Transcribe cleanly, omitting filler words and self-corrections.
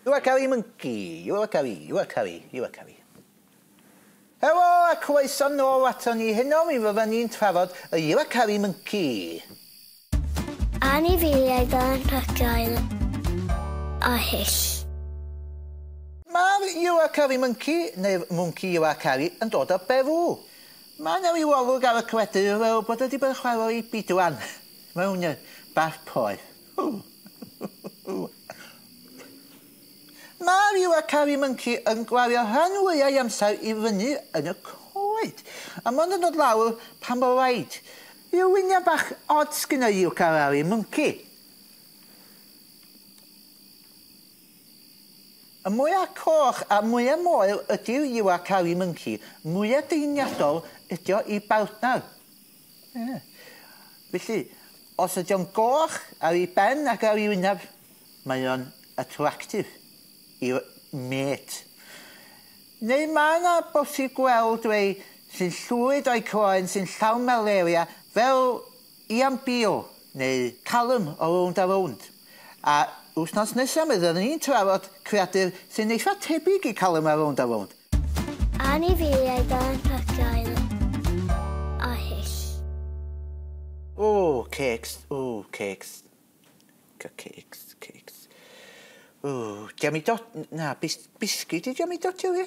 Uakari monkey, uakari, uakari, uakari. Helo a croeso nôl aton ni heno, mi fyddan ni'n trafod y uakari monkey. Anifeiliaid anhygoel a hyll. Mae'r uakari monkey, neu'r mwnci uakari, yn dod o Beru. Mae yna ryw olwg ar y creadur fel bod o wedi bod yn chwarae i bidwan mewn bath poeth. Mae'r uakari monkey yn gwario rhan fwya o'i amser i fyny yn y coed. A mond yn dod lawr pan bo raid. Ryw wynion bach od sgynna uakari monkey. Y mwya coch a mwya moel ydy'r uakari monkey, mwya deiniadol ydy o i bartner. Ie. Felly, os ydy o'n goch ar ei ben ac ar ei wyneb, mae o'n attractive i'r mate. Neu mae yna bosib gweld rei sy'n llwyd o'i croen sy'n llawn malaria fel Ian Beale neu Callum o Rownd a Rownd. A wythnos nesaf mi fyddwn ni'n trafod creadur sy'n eitha tebyg i Callum a Rownd a Rownd. Anifeiliaid anhygoel a hyll. O, cakes, o, cakes. Cakes, cakes. O, jammy dot, na, biscuit i jammy dotio, ie?